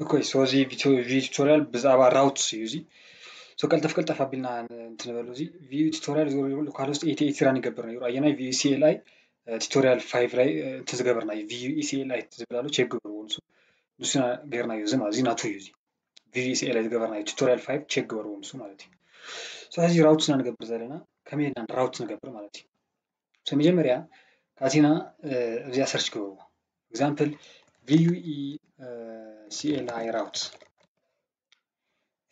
Okay, so እዚ ቪዲዮ ቱቶሪያል ብዛዕባ routes እዩ። እዚ so ቀልጠፍ ቀልጠፍ ኣቢልና እንትንበሉ፣ እዚ view tutorial ዞሮ ካልኦስ ኤቲ ኤቲ run ይገብር ነይሩ። ኣየናይ view CLI tutorial five ላይ እንትን ዝገበርና እዩ። View CLI ዝብል ኣሎ፣ ቼክ ግበርዎ። ንሱ ንሱ ጌርና እዩ። እዚ ናቱ እዩ። እዚ view CLI ዝገበርና እዩ። Tutorial five ቼክ ግበርዎ ንሱ ማለት እዩ። So ሕዚ routes ኢና ንገብር ዘለና። ከመይ ኢልና routes ንገብር ማለት እዩ። So መጀመርያ ካቲና እዚኣ ሰርች ግበርዎ። Example view CLI routes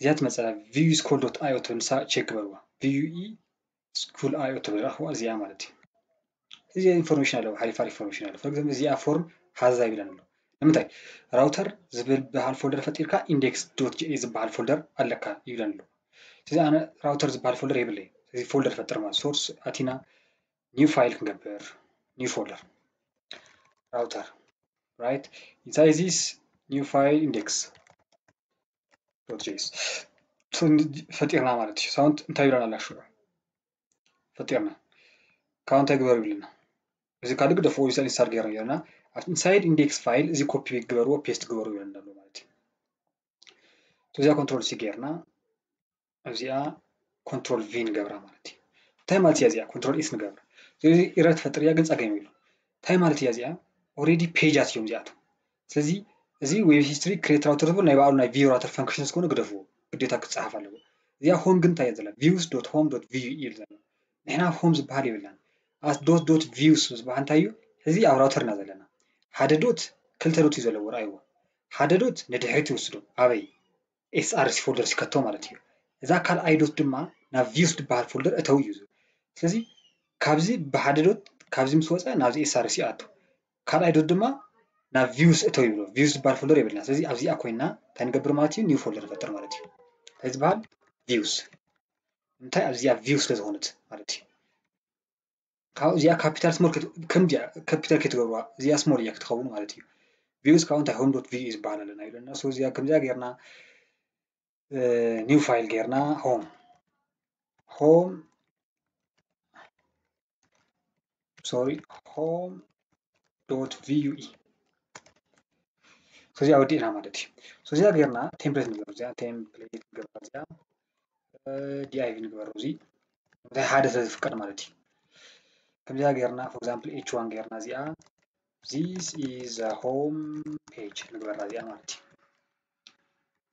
እዚኣ ትመፀላ። View school dot io ትብል ንሳ ቼክ ግበርዋ። View school io ትብል ረኽዋ እዚኣ ማለት እዩ። እዚ ኢንፎርሜሽን ኣለዎ፣ ሓሪፍ ሓሪፍ ኢንፎርሜሽን ኣለዎ። For example እዚኣ ፎርም ሃዛ ይብለን ኣሎ። ንምንታይ ራውተር ዝብል በሃል ፎልደር ፈጢርካ index dot js ዝበሃል ፎልደር ኣለካ ይብለን ኣሎ። ስለዚ ኣነ ራውተር ዝበሃል ፎልደር የብለይ። ስለዚ ፎልደር ፈጥር ማለት source ኣቲና new file ክንገብር፣ new folder router right inside this new file index dot js ፈጢርና ማለት እዩ። ሳውንት እንታይ ይብለና ኣላ ሽዑ ፈጢርና ካብ እንታይ ግበሩ ይብለና። እዚ ካልእ ግደፍዎ፣ ኢንስታል ጌርና ጌርና ኣብቲ inside index file እዚ ኮፒ ግበርዎ፣ ፔስት ግበሩ ይብለና ኣሎ ማለት እዩ። እዚኣ ኮንትሮል ሲ ጌርና እዚኣ ኮንትሮል ቪ ንገብራ ማለት እዩ። እንታይ ማለት እያ እዚኣ? ኮንትሮል ኤስ ንገብራ። ስለዚ ኢረር ትፈጥር እያ፣ ግን ጸገም የብሉ። እንታይ ማለት እያ እዚኣ? ኦልሬዲ ፔጃት እዮም እዚኣቶም። ስለዚ እዚ ዌብ ሂስትሪ ክሬት ራውተር ዝብል ናይ ባዕሉ ናይ ቪው ራውተር ፈንክሽን ስለዝኾነ ግደፍዎ፣ ግዴታ ክጸሓፍ ኣለዎ። እዚኣ ሆም ግን እንታይ እያ ዘላ? views dot home dot view እዩ ዘላ። ንሕና ሆም ዝበሃል የብልናን። ኣስ ዶት ዶት ቪውስ ዝበሃል እንታይ እዩ? ሕዚ ኣብ ራውተር ኢና ዘለና። ሓደ ዶት ክልተ ዶት እዩ ዘለዎ፣ ረኣይዎ። ሓደ ዶት ንድሕሪት ይወስዶ፣ ኣበይ? ኤስኣርሲ ፎልደር ሲከቶ ማለት እዩ። እዛ ካልኣይ ዶት ድማ ናብ ቪውስ ዝበሃል ፎልደር እተው እዩ ዝብል። ስለዚ ካብዚ ብሓደ ዶት ካብዚ ምስ ወፀ ናብዚ ኤስኣርሲ ይኣቱ። ካልኣይ ዶት ድማ ናብ ቪውስ እተው ይብሎ። ቪውስ ዝበሃል ፎልደር የብልና። ስለዚ ኣብዚኣ ኮይና እንታይ ንገብር ማለት እዩ? ኒው ፎልደር ንፈጥር ማለት እዩ። እንታይ ዝበሃል? ቪውስ። እንታይ ኣብዚኣ ቪውስ ስለ ዝኾነት ማለት እዩ። ካብ እዚኣ ካፒታል ስሞል ከምዚኣ ካፒታል ከይትገብርዋ እዚኣ ስሞል እያ ክትኸውን ማለት እዩ። ቪውስ ካብኡ እንታይ ሆም ዶት ቪ ዝበሃል ኣለና ይብለና። So እዚኣ ከምዚኣ ጌርና ኒው ፋይል ጌርና ሆም ሆም ሶሪ ሆም ዶት ቪ ዩ ኢ እዚኣ ወዲእና ማለት እዩ። እዚኣ ጌርና ቴምፕሌት ንገብር፣ እዚኣ ቴምፕሌት ንገብር፣ እዚኣ ዲኣይቪ ንግበሮ። እዚ እንታይ ሓደ ስለ ዝፍቀድ ማለት እዩ። ከምዚኣ ጌርና for example ኤች ዋን ጌርና እዚኣ this is the home page ንግበራ እዚኣ ማለት እዩ።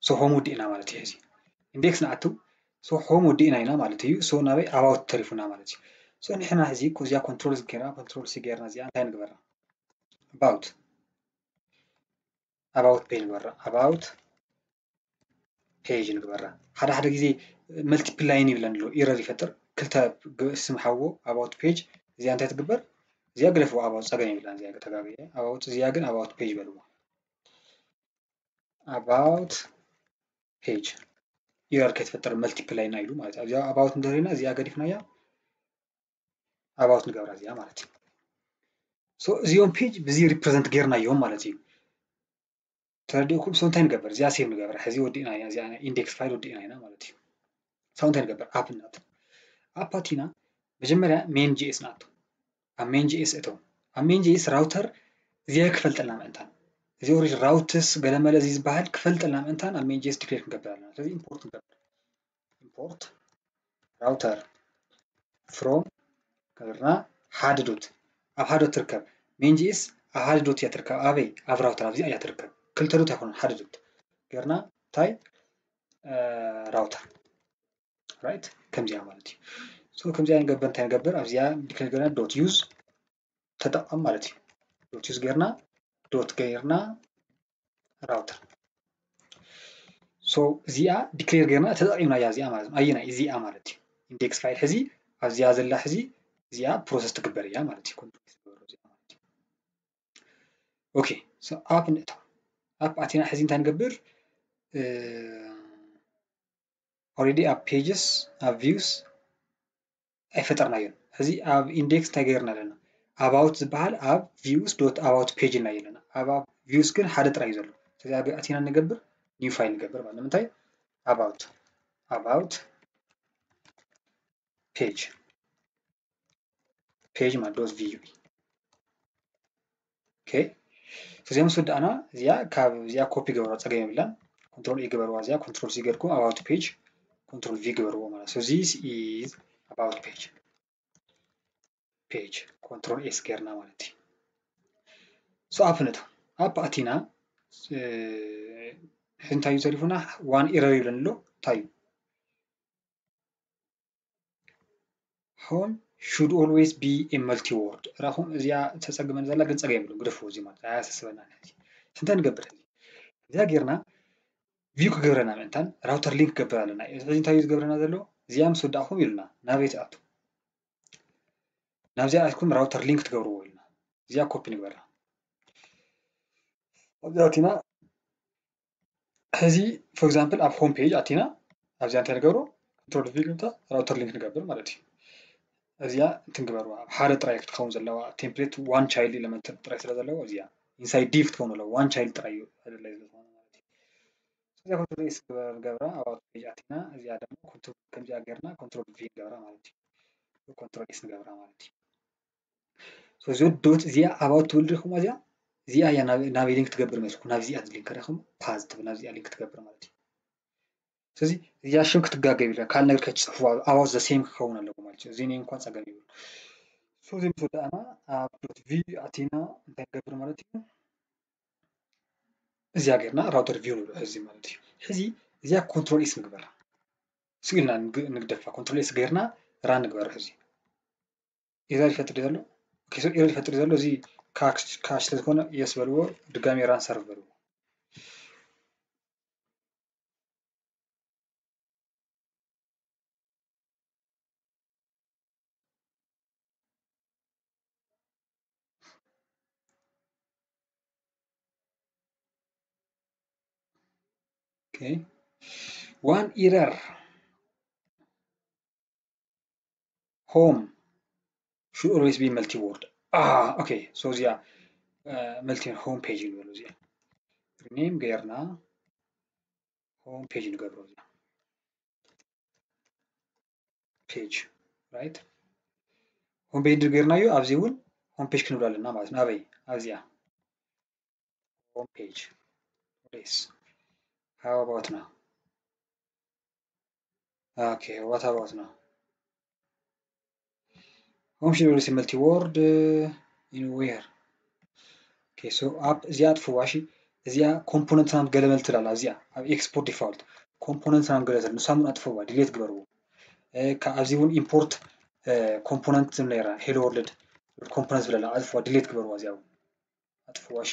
So ሆም ወዲእና ማለት እዩ። እዚ ኢንዴክስ ንኣቱ so ሆም ወዲእና ኢና ማለት እዩ። So ናበይ ኣባውት ተሪፉና ማለት እዩ። So ንሕና እዚ እዚኣ ኮንትሮል ሲ ጌርና ኮንትሮል ሲ ጌርና እዚኣ እንታይ ንግበራ? ኣባውት ኣባውት ፔጅ ንግበራ። ኣባውት ፔጅ ንግበራ። ሓደ ሓደ ግዜ መልቲፕል ላይን ይብለን ኣሎ ኢረር ይፈጥር። ክልተ ስም ሓዎ ኣባውት ፔጅ እዚኣ እንታይ ትግበር? እዚኣ ግደፍዎ ኣባውት ጸገም የብላን። እዚኣ ተጋግየ ኣባውት እዚኣ ግን ኣባውት ፔጅ በልዎ። ኣባውት ፔጅ ኢረር ከይትፈጥር መልቲፕል ላይን ኢሉ ማለት እዩ። እዚኣ ኣባውት እንተሪና እዚኣ ገዲፍናያ ኣባውት ንገብራ እዚኣ ማለት እዩ። So እዚኦም ፔጅ ብዚ ሪፕሬዘንት ጌርናዮም ማለት እዩ። ተረዲእኩም? So እንታይ ንገብር? እዚኣ ሴቭ ንገብር። ሕዚ ወዲእና ኢና፣ እዚኣ ኢንዴክስ ፋይል ወዲእና ኢና ማለት እዩ። So እንታይ ንገብር? ኣፕ ንኣቱ። ኣፕ ኣቲና መጀመርያ ሜን ጂ ኤስ ንኣቱ። ኣብ ሜን ጂ ኤስ እተው። ኣብ ሜን ጂ ኤስ ራውተር እዚኣ ክፈልጠልና ምእንታን እዚ ኦሪጅ ራውትስ ገለመለ እዚ ዝበሃል ክፈልጠልና ምእንታን ኣብ ሜን ጂ ኤስ ዲክሌር ክንገብር ኣለና። ስለዚ ኢምፖርት ንገብር። ኢምፖርት ራውተር ፍሮም ገርና ሓደ ዶት ኣብ ሓደ ዶት ትርከብ። ሜን ጂ ኤስ ኣብ ሓደ ዶት እያ ትርከብ። ኣበይ? ኣብ ራውተር ኣብዚኣ እያ ትርከብ። ክልተ ዶት ኣይኮነን ሓደ ዶት ገርና እንታይ ራውተር ራይት ከምዚኣ ማለት እዩ። So ከምዚኣ ንገብር እንታይ ንገብር ኣብዚኣ ዲክሌር ገርና ዶት ዩዝ ተጠቐም ማለት እዩ። ዶት ዩዝ ጌርና ዶት ጌርና ራውተር so እዚኣ ዲክሌር ጌርና ተጠቂምናያ እዚኣ ማለት ነው። ኣየናይ እዚኣ ማለት እዩ። ኢንዴክስ ፋይል ሕዚ ኣብዚኣ ዘላ ሕዚ እዚኣ ፕሮሰስ ትግበር እያ ማለት እዩ። ኮንትሮል ትግበር እዚኣ ማለት እዩ። ኦኬ so ኣፕ ንእታ ኣፕ ኣቲና ሕዚ እንታይ ንገብር? ኦልሬዲ ኣብ ፔጅስ ኣብ ቪውስ ኣይፈጠርናዮን። ሕዚ ኣብ ኢንዴክስ እንታይ ገይርና ኣለና? ኣባውት ዝበሃል ኣብ ቪውስ ዶት ኣባውት ፔጅ ኢልና ኣለና። ኣብ ቪውስ ግን ሓደ ጥራይ እዩ ዘሎ። ስለዚ ኣቲና ንገብር ኒው ፋይል ንገብር ማለት ንምንታይ? ኣባውት ኣባውት ፔጅ ፔጅ ማለት ዶት ቪ ዩ ኢ ኦኬ። እዚኣ ምስ ወዳእና እዚኣ ካብ እዚኣ ኮፒ ገበርዋ፣ ፀገም የብላን። ኮንትሮል ኤ ገበርዋ፣ እዚኣ ኮንትሮል ሲ ገርኩም about page ኮንትሮል ቪ ገበርዎ ማለት። So this is about page page ኮንትሮል ኤስ ገርና ማለት እዩ። So ኣፕ ነታ ኣፕ ኣቲና፣ ሕዚ እንታይ እዩ ተሪፉና? ዋን ኢረር ይብለኒ ኣሎ። እንታይ እዩ? Home should always be a multi word። ራኹም እዚኣ ተፀግመን ዘላ ግን ፀገም የብሉ፣ ግደፉ። እዚ ማለት ኣያሳስበና። ሕዚ እንታይ ንገብር? ሕዚ እዚኣ ጌርና ቪው ክገብረና ምእንታን ራውተር ሊንክ ክገብር ኣለና። እዚ ሕዚ እንታይ እዩ ዝገብረና ዘሎ? እዚኣ ምስ ወዳእኹም ኢሉና ናበይ ትኣቱ? ናብዚኣ ኣትኩም ራውተር ሊንክ ትገብርዎ ኢሉና። እዚኣ ኮፒ ንግበራ። ኣብዚኣ ኣቲና ሕዚ for example ኣብ ሆም ፔጅ ኣቲና ኣብዚኣ እንታይ ንገብሮ? ኮንትሮል ቪ ገብታ ራውተር ሊንክ ንገብር ማለት እዩ። እዚኣ እንትን ግበርዋ፣ ኣብ ሓደ ጥራይ ክትኸውን ዘለዋ፣ ቴምፕሌት ዋን ቻይልድ ኤለመንት ጥራይ ስለ ዘለዎ እዚኣ ኢንሳይድ ዲቭ ክትኸውን ኣለዋ። ዋን ቻይልድ ጥራይ እዩ ኣድላይ ስለ ዝኾነ ማለት እዩ። እዚኣ ኮንትሮል ኤስ ገብራ፣ about page ኣቲና፣ እዚኣ ደግሞ ኮንትሮል ከምዚኣ ጌርና ኮንትሮል ቪ ንገብራ ማለት እዩ። ኮንትሮል ኤስ ንገብራ ማለት እዩ። So እዚ ዶት እዚኣ about ትብል ዲኹም? እዚኣ እዚኣ እያ ናብ ናበይ ሊንክ ትገብር መስልኩም? ናብዚኣ ሊንክ ዲኹም? ፓዝ ትብል ናብዚኣ ሊንክ ትገብር ማለት እዩ። ስለዚ እዚኣ ሽም ክትጋገብ ኢለ ካልእ ነገር ከይትፅሕፉ፣ about the same ክኸውን ኣለዎ ማለት እዩ። እዚ ናይ እንኳን ፀገም ይብሉ። So እዚ ምስ ወዳእና ኣብ ዶት ቪ ኣቲና እንታይ ንገብር ማለት እዩ? እዚኣ ጌርና ራውተር ቪው ንብሎ ሕዚ ማለት እዩ። ሕዚ እዚኣ ኮንትሮል ኤስ ንግበራ። ስኢልና ንግ- ንግደፋ። ኮንትሮል ኤስ ጌርና ራን ንግበራ። ሕዚ ኤረር ይፈጥር ዘሎ። ኦኬ፣ so ኤረር ይፈጥር ዘሎ እዚ ካሽ ካሽ ስለ ዝኾነ የስ በልዎ፣ ድጋሚ ራን ሰርቭ በልዎ። Okay, one error. Home should always be multi word. Ah, okay, so እዚኣ መልቲ ሆም ፔጅ ንበሉ። እዚኣ ሪኔም ገይርና ሆም ፔጅ ንገብሮ። እዚኣ ፔጅ፣ ራይት፣ ሆም ፔጅ ጌርናዮ። ኣብዚ እውን ሆም ፔጅ ክንብል ኣለና ማለት ነው። ኣበይ? ኣብዚኣ ሆም ፔጅ። Yes, how about now? Okay, what about now? Home should always multi word, uh, in where? Okay, so ኣብ እዚኣ ኣጥፍዋ። እሺ፣ እዚኣ ኮምፖነንት ናም ገለመል ትላላ። እዚኣ ኣብ ኤክስፖርት ዲፋልት ኮምፖነንት ናም ገለ ትል ንሳሙን ኣጥፍዋ፣ ዲሌት ግበርዎ። እ፣ ካብ ኣብዚ እውን ኢምፖርት ኮምፖነንት ዝብል ነይራ፣ ሄሎ ወርልድ ኮምፖነንት ዝብለላ ኣጥፍዋ፣ ዲሌት ግበርዋ። እዚኣ እውን ኣጥፍዋ። እሺ፣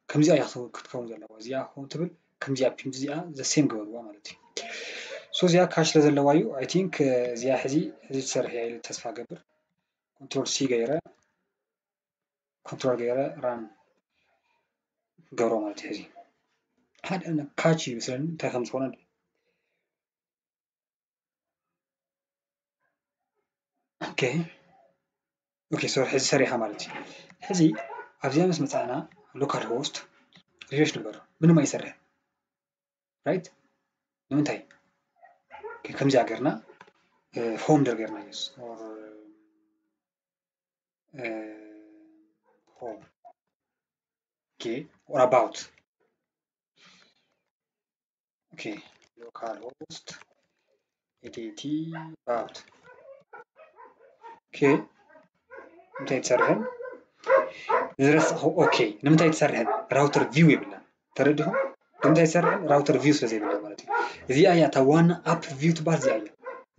ከምዚኣ እያ ክትከውን ዘለዋ። እዚኣ ክኸውን ትብል ከምዚኣ ፒን እዚኣ ዘ ሴም ግበርዋ ማለት እዩ። So እዚኣ ካሽ ስለ ዘለዋ እዩ። I think እዚኣ ሕዚ ሕዚ ትሰርሕ እያ ኢለ ተስፋ ገብር። ኮንትሮል ሲ ገይረ፣ ኮንትሮል ገይረ ራን ገሮ ማለት እዩ። ሕዚ ሓደ ካች ይመስለኒ እንታይ ከም ዝኾነ። ኦኬ፣ ኦኬ፣ ሶሪ፣ ሕዚ ሰሪሓ ማለት እዩ። ሕዚ ኣብዚኣ ምስ መጻእና ሎካል ሆስት ሪፍሬሽ ንግበር፣ ምንም ኣይሰርሕን። ራይት፣ ንምንታይ? ኦኬ፣ ከምዚኣ ገርና ፎልደር ገርና ዩስ ኦር ሆም፣ ኦኬ፣ ኦር ኣባውት፣ ኦኬ፣ ሎካል ሆስት ኤዲቲ ኣባውት። ኦኬ፣ እንታይ ትሰርሕን ዝረሳኹ? ኦኬ፣ ንምንታይ ትሰርሕን? ራውተር ቪው የብላን። ተረዲኹም? ንምንታይ ትሰርሕን? ራውተር ቪው ስለ ዘይብላ ማለት እዩ። እዚኣ እያ እታ ዋና ኣፕ ቪው ትበሃል። እዚኣ እያ፣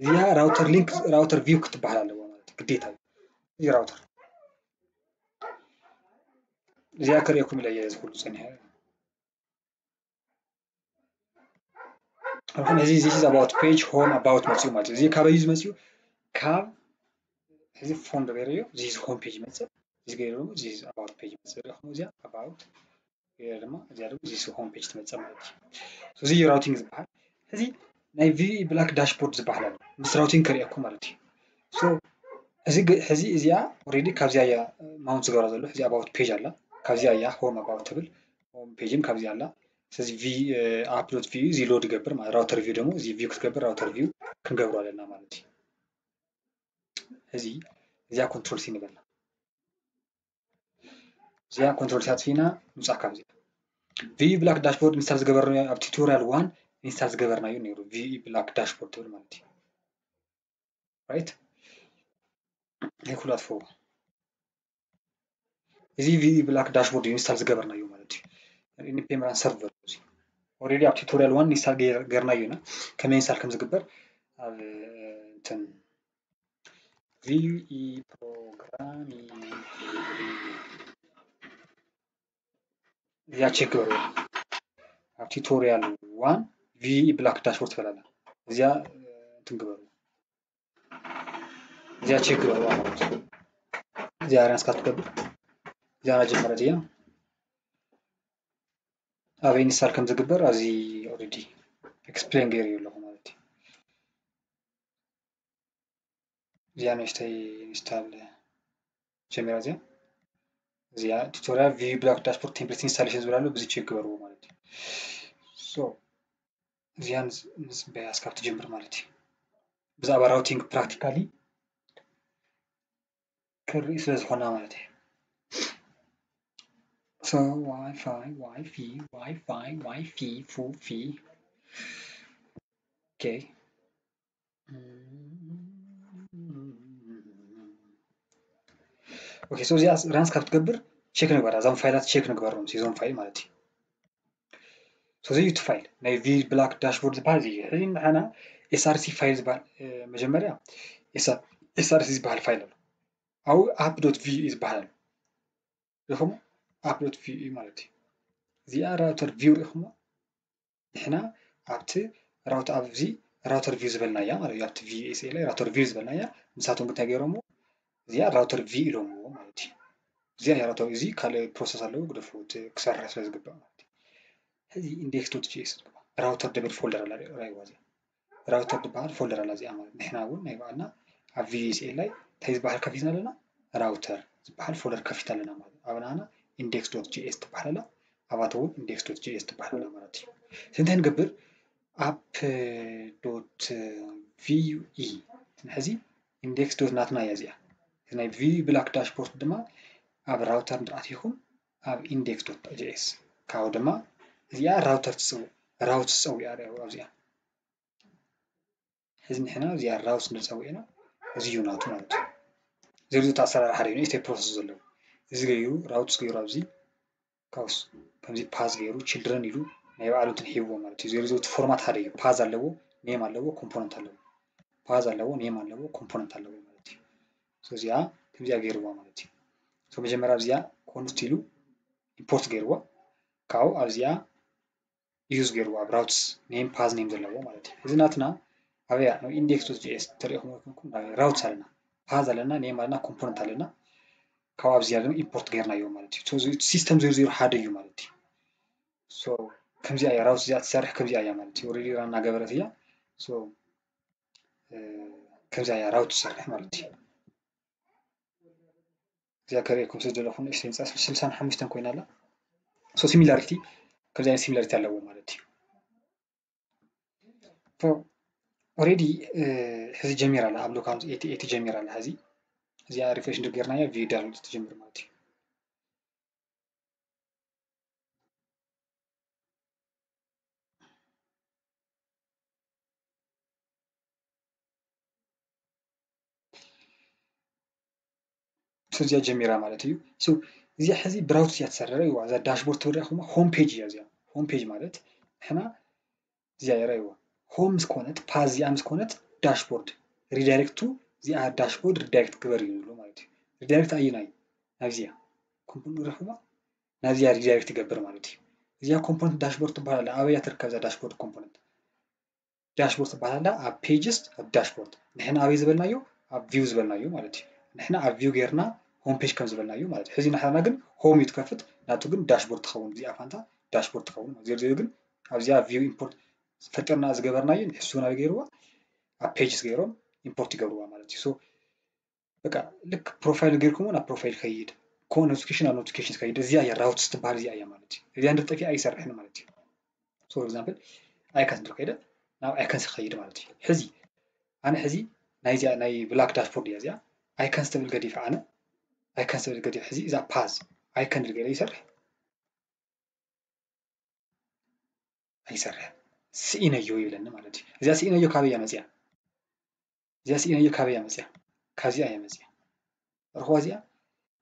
እዚኣ ራውተር ሊንክ፣ ራውተር ቪው ክትበሃል ኣለዋ ማለት እዩ፣ ግዴታ እዩ። እዚ ራውተር እዚኣ ከርእየኩም ኢለ እየ እዚ ኩሉ ጸኒሐ። ኣሁን እዚ this is about page፣ ሆም፣ ኣባውት መጽኡ ማለት እዩ። እዚ ካበይ እዩ ዝመጽኡ? ካብ እዚ ፎልደር ገይረዮ፣ this is ሆም ፔጅ ይመጽእ። እዚ ገይረ ደግሞ this is ኣባውት ፔጅ ይመጽእ። ሪኢኹም እዚኣ ኣባውት ገይረ ድማ እዚኣ ደግሞ this is ሆም ፔጅ ትመጽእ ማለት እዩ። So እዚ ራውቲንግ ዝበሃል። እዚ ናይ ቪ ብላክ ዳሽቦርድ ዝበሃል ኣሎ። ምስ ራውቲንግ ከርእየኩም ማለት እዩ። So እዚ ግ- ሕዚ እዚኣ ኦልሬዲ ካብዚኣ እያ ማውንት ዝገብራ ዘሎ። ሕዚ ኣባውት ፔጅ ኣላ፣ ካብዚኣ እያ ሆም ኣባውት ትብል። ሆም ፔጅም ካብዚኣ ኣላ። ስለዚ ቪ ኣፕ ዶት ቪ እዚ ሎድ ይገብር ማለት፣ ራውተር ቪው ደግሞ እዚ ቪው ክትገብር ራውተር ቪው ክንገብሮ ኣለና ማለት እዩ። እዚ እዚኣ ኮንትሮል ሲ ንበላ። እዚኣ ኮንትሮል ሲ ኣጥፊእና ንውፃእ ካብዚኣ። ቪ ብላክ ዳሽቦርድ ኢንስታል ዝገበርናዮ ኣብ ቱቶሪያል ዋን ኢንስታል ዝገበርናዮ ነይሩ፣ ቪ ብላክ ዳሽቦርድ ትብል ማለት እዩ። ራይት፣ ይኩላትፈዎ። እዚ ቪ ብላክ ዳሽቦርድ ኢንስታል ዝገበርናዮ ማለት እዩ። ኢንዲፔንደንት ሰርቨር እዚ ኦልሬዲ ኣብ ቱቶሪያል ዋን ኢንስታል ገይርናዮ ኢና። ከመይ ኢንስታል ከም ዝግበር ኣብ እንትን ቪኢ ፕሮግራሚንግ እዚኣ ቸክ ግበሩ። ኣብ ቱቶሪያል ዋን ቪኢ ብላክ ዳሽቦርድ ትበላላ እዚኣ እንትን ግበሩ። እዚኣ ቸክ ግበሩ ማለት እዩ። እዚኣ ራን እስካ ትገብር እዚኣ ናጀመረት እያ። ኣበይ ኢንስታል ከም ዝግበር ኣብዚ ኦልሬዲ ኤክስፕሌን ገይሩ ኣለኹ ማለት እዩ። እዚኣ ንእሽተይ ኢንስታል ጀሚራ እዚኣ እዚኣ ቱቶሪያል ቪ ብላክ ዳሽቦርድ ቴምፕሌት ኢንስታሌሽን ዝብል ኣሎ። ብዚ ቸክ ግበርዎ ማለት እዩ። ሶ እዚኣ ንፅበያ እስካብ ትጀምር ማለት እዩ። ብዛዕባ ራውቲንግ ፕራክቲካሊ ክርኢ ስለ ዝኾና ማለት እዩ። ሶ ዋይፋይ ዋይፊ ዋይፋይ ዋይፊ ፉፊ ኦኬ ኦኬ ሶ እዚኣ ራንስ ካብ ትገብር ቸክ ንግበራ። እዞም ፋይላት ቸክ ንግበሮም እዞም ፋይል ማለት እዩ። ሶ እዚ እዩ እቲ ፋይል ናይ ቪ ብላክ ዳሽቦርድ ዝበሃል እዚ እዩ። ሕዚ ንሓና ኤስኣርሲ ፋይል ዝበሃል መጀመርያ ኤስኣርሲ ዝበሃል ፋይል ኣሎ። ኣብኡ ኣፕ ዶት ቪ እዩ ዝበሃል ኣሎ። ሪኹሞ ኣፕ ዶት ቪ እዩ ማለት እዩ። እዚኣ ራውተር ቪው ሪኹሞ ንሕና ኣብቲ ራውተር ኣብዚ ራውተር ቪው ዝበልናያ ማለት እዩ። ኣብቲ ቪኤስኤ ላይ ራውተር ቪው ዝበልናያ ንሳቶም እንታይ ገይሮምዎ እዚኣ ራውተር ቪ ኢሎምዎ ማለት እዩ። እዚኣ ራውተር እዚ ካልእ ፕሮሰስ ኣለዎ ግደፉ እቲ ክሰርሕ ስለ ዝግባእ ማለት እዩ። ሕዚ ኢንዴክስ ዶት ጂኤስ ዝግባእ ራውተር ደብል ፎልደር ኣላ ራይዋ እዚኣ ራውተር ዝበሃል ፎልደር ኣላ እዚኣ ማለት ንሕና እውን ናይ በዓልና ኣብ ቪኤስኤ ላይ እንታይ ዝበሃል ከፊትና ኣለና ራውተር ዝበሃል ፎልደር ከፊት ኣለና ማለት ኣብ ናና ኢንዴክስ ዶት ጂኤስ ትበሃል ኣላ ኣባተ እውን ኢንዴክስ ዶት ጂኤስ ትበሃል ኣላ ማለት እዩ። እንታይ ንገብር ኣፕ ዶት ቪዩ ኢ ሕዚ ኢንዴክስ ዶት ናትና እያ እዚኣ ናይ ቪዩ ብላክ ዳሽቦርድ ድማ ኣብ ራውተር እንድኣት ይኹን ኣብ ኢንዴክስ ዶት ጂኤስ ካብኡ ድማ እዚኣ ራውተር ትፅውዕ ራውት ትፀውዕ ኣብዚኣ ሕዚ ንሕና እዚኣ ራውት ንፀውዕ ኢና እዚ እዩ ናቱ ማለት እዩ። ዝርዝር ኣሰራርሓ ደ ንእሽተይ ፕሮሰስ ዘለዎ እዚ ገይሩ ራውትስ ገይሩ ኣብዚ ካውስ ከምዚ ፓዝ ገይሩ ችልድረን ኢሉ ናይ ባዕሉ እንትን ሂብዎ ማለት እዩ። ዝርዝር ፎርማት ሓደ እዩ። ፓዝ ኣለዎ፣ ኔም ኣለዎ፣ ኮምፖነንት ኣለዎ። ፓዝ ኣለዎ፣ ኔም ኣለዎ፣ ኮምፖነንት ኣለዎ ማለት እዩ። እዚኣ ከምዚኣ ገይርዋ ማለት እዩ። መጀመርያ ኣብዚኣ ኮንስት ኢሉ ኢምፖርት ገይርዋ ካብኡ ኣብዚኣ ዩዝ ገይርዎ ኣብ ራውትስ ኔም ፓዝ ኔም ዘለዎ ማለት እዩ። እዚ ናትና ኣበያ ናብ ኢንዴክስ ዶት ጂኤስ ተሪኢኹም ወይኮንኩም ራውትስ ኣለና ፓዝ ኣለና ኔም ኣለና ኮምፖነንት ኣለና ካብ ኣብዚኣ ድማ ኢምፖርት ገይርናዮ ማለት እዩ። ሲስተም ዜሮ ዜሮ ሓደ እዩ ማለት እዩ። ከምዚኣ እያ ራውትስ እዚኣ ትሰርሕ ከምዚኣ እያ ማለት እዩ። ኦልሬዲ ራን እናገበረት እያ። ከምዚኣ እያ ራውት ትሰርሕ ማለት እዩ። እዚኣ ከርእየኩም ስለ ዘለኹ ንእሽተይ ንፃ ስልሳን ሓሙሽተን ኮይና ኣላ። ሶ ሲሚላሪቲ ከምዚ ዓይነት ሲሚላሪቲ ኣለዎ ማለት እዩ። ኦልሬዲ ሕዚ ጀሚራ ኣላ ኣብ ሎካል ኤቲ ኤቲ ጀሚራ ኣላ። ሕዚ እዚኣ ሪፍሬሽ እንድር ጌርናያ ቪዲዮ ዳውንሎድ ትጀምር ማለት እዩ። እዚኣ ጀሚራ ማለት እዩ። እዚኣ ሕዚ ብራውት እያ ትሰርሕ እዋ እዛ ዳሽቦርድ ትብል ሪኢኹማ ሆም ፔጅ እያ እዚኣ። ሆም ፔጅ ማለት ንሕና እዚኣ የረእይዋ ሆም ምስ ኮነት ፓዝ እዚኣ ምስ ኮነት ዳሽቦርድ ሪዳይሬክቱ እዚኣ ዳሽቦርድ ሪዳይሬክት ግበር እዩ ዝብሎ ማለት እዩ። ሪዳይሬክት ኣየናይ ናብዚኣ ኮምፖነንት ሪኢኹማ ናብዚኣ ሪዳይሬክት ይገብር ማለት እዩ። እዚኣ ኮምፖነንት ዳሽቦርድ ትበሃል ኣላ። ኣበይ እያ ትርከብ እዛ ዳሽቦርድ ኮምፖነንት? ዳሽቦርድ ትበሃል ኣላ ኣብ ፔጅስ ኣብ ዳሽቦርድ ንሕና ኣበይ ዝበልናዮ ኣብ ቪው ዝበልናዮ ማለት እዩ። ንሕና ኣብ ቪው ጌርና ሆም ፔጅ ከም ዝበልናዮ ማለት እዩ። ሕዚ ንሕና ግን ሆም እዩ ትከፍት ናቱ ግን ዳሽቦርድ ትኸውን እዚኣ ፋንታ ዳሽቦርድ ትኸውን ማለት እዩ። ግን ኣብዚኣ ቪው ኢምፖርት ፈጢርና ዝገበርናዮ ንሕሱ ናበይ ገይርዋ ኣብ ፔጅስ ገይሮም ኢምፖርት ይገብርዋ ማለት እዩ። በቃ ልክ ፕሮፋይል ጌርኩሞ ናብ ፕሮፋይል ከይድ ኮ ኖቲፊኬሽን ኣብ ኖቲፊኬሽን ከይድ እዚኣ እያ ራውትስ ትበሃል እዚኣ እያ ማለት እዩ። እዚኣ እንድር ጠፊኣ ኣይሰርሕን ማለት እዩ። ፎር ኤግዛምፕል ኣይከንስ እንድር ከይደ ናብ ኣይከንስ ከይድ ማለት እዩ። ሕዚ ኣነ ሕዚ ናይዚኣ ናይ ብላክ ዳሽቦርድ እያ እዚኣ ኣይከንስ ትብል ገዲፍ ኣነ ኣይከንስ ትብል ገዲፍ ሕዚ እዛ ፓዝ ኣይከን ድል ገለ ይሰርሕ ኣይሰርሕ ስኢነዮ ይብለኒ ማለት እዩ። እዚኣ ስኢነዮ ካበይ እያ መፅያ? እዚኣ ስኢነዮ ካበይ እያ መፅያ? ካብዚኣ እያ መፅያ። ርኽዋ እዚኣ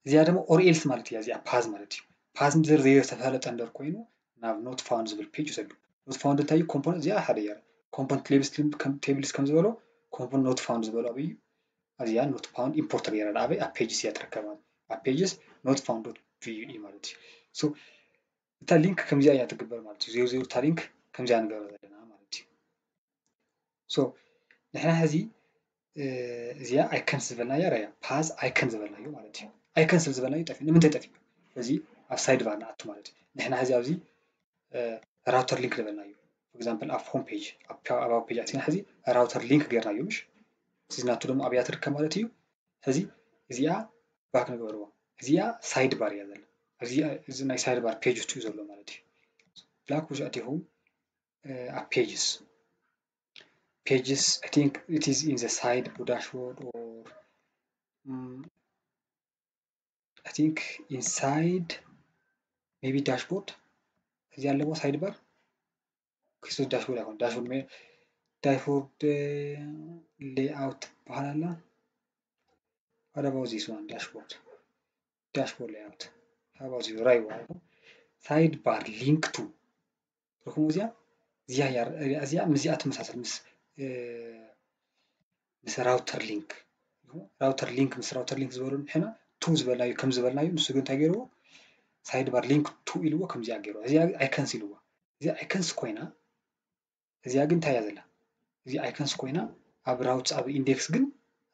እዚኣ ደግሞ ኦር ኤልስ ማለት እያ። እዚኣ ፓዝ ማለት እዩ። ፓዝ ምድር ዘይተፈለጠ እንደር ኮይኑ ናብ ኖት ፋውንድ ዝብል ፔጅ ይሰዱ። ኖት ፋውንድ እንታይ እዩ? ኮምፖነንት እዚኣ ሓደ እያ። ኮምፖነንት ቴብልስ ከም ዝበሎ ኮምፖነንት ኖት ፋውንድ ዝበሎ ኣበይ እዩ? እዚኣ ኖት ፋውንድ ኢምፖርት ገይራ ኣበይ ኣብ ፔጅስ እያ ትርከብ ማለት ኣብ ፔጅስ ኖት ፋውንድ ዶት ቪዩ ማለት እዩ። እታ ሊንክ ከምዚኣ እያ ትግበር ማለት እዩ። ዜሮ ዜሮ እታ ሊንክ ከምዚኣ ንገብረ ዘለና ማለት እዩ። ሶ ንሕና ሕዚ እዚኣ ኣይከንስ ዝበልናያ ራያ ፓዝ ኣይከን ዝበልናዮ ማለት እዩ። ኣይከንስ ዝበልናዮ ጠፊኡ ንምንታይ ጠፊኡ? እዚ ኣብ ሳይድ ባር ንኣቱ ማለት እዩ። ንሕና ሕዚ ኣብዚ ራውተር ሊንክ ዝበልናዮ ኤግዛምፕል ኣብ ሆም ፔጅ ኣብ ፔጅ ኣቲና ሕዚ ራውተር ሊንክ ገይርናዮ ምሽ እዚ ናቱ ደግሞ ኣብያ ትርከብ ማለት እዩ። ሕዚ እዚኣ ባክ ንገበርዎ። እዚኣ ሳይድ ባር እያ ዘላ። እዚ ናይ ሳይድ ባር ፔጅ ውስጥ እዩ ዘሎ ማለት እዩ። ብላክ ውሽ ኣቲኹም ኣብ pages pages I think it is in the side dashboard or mm, I think inside maybe dashboard እዚህ ያለበው ሳይድ ባር ክሱ dashboard አይሆን dashboard dashboard layout በኋላ አለ። What about this one? Dashboard dashboard layout. How about you? Right one. Side bar link to. ርኹም እዚኣ እዚኣ እዚኣ ምስዚኣ ትመሳሰል ምስ ምስ ራውተር ሊንክ ራውተር ሊንክ ምስ ራውተር ሊንክ ዝበሉ ንሕና ቱ ዝበልናዩ ከም ዝበልናዩ ንሱ ግን እንታይ ገይርዎ ሳይድ ባር ሊንክ ቱ ኢልዎ ከምዚኣ ገይርዎ እዚኣ ኣይከንስ ኢልዎ እዚኣ ኣይከንስ ኮይና እዚኣ ግን እንታይ እያ ዘላ እዚኣ ኣይከንስ ኮይና ኣብ ራውትስ ኣብ ኢንዴክስ ግን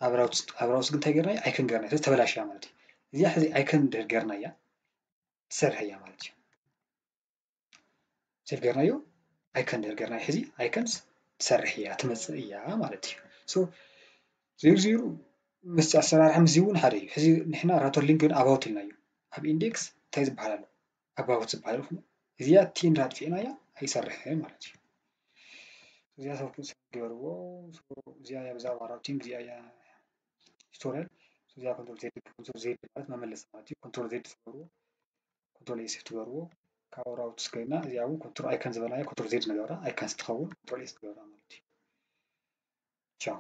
ኣብ ራውትስ ኣብ ራውትስ ግን እንታይ ገርና ኣይከን ገርና ስለዚ ተበላሽያ ማለት እዩ እዚኣ ሕዚ ኣይከን ድር ገርና እያ ትሰርሕ እያ ማለት እዩ ሴፍ ገርናዮ ኣይከን ድር ገርና ሕዚ ኣይከንስ ትሰርሕ እያ ትመፅእ እያ ማለት እዩ ዜሩ ዜሩ ምስ ኣሰራርሓ ምስዚ እውን ሓደ እዩ ሕዚ ንሕና ራውተር ሊንክ ግን ኣባውት ኢልናዮ ኣብ ኢንዴክስ እንታይ ዝበሃል ኣሎ ኣባውት ዝበሃል ይኹን እዚኣ ቲን ራጥፊእናያ ኣይሰርሕን ማለት እዩ እዚኣ ሰብ ገበርዎ እዚኣ እያ ብዛዕባ ራውቲንግ እዚኣ እያ ቱቶሪያል እዚኣ ኮንትሮል ዜድ ኮንትሮል ዜድ ማለት መመለስ ማለት እዩ ኮንትሮል ዜድ ትገብርዎ ኮንትሮል ኤስ ትገብርዎ ካብኡ ራውትስ ኮይና እዚኣ እውን ኮንትሮል ኣይከን ዝበልናዮ ኮንትሮል ዜድ ንገብራ ኣይከን ስትኸውን ኮንትሮል ኤስ ትገብራ ማለት እዩ ቻው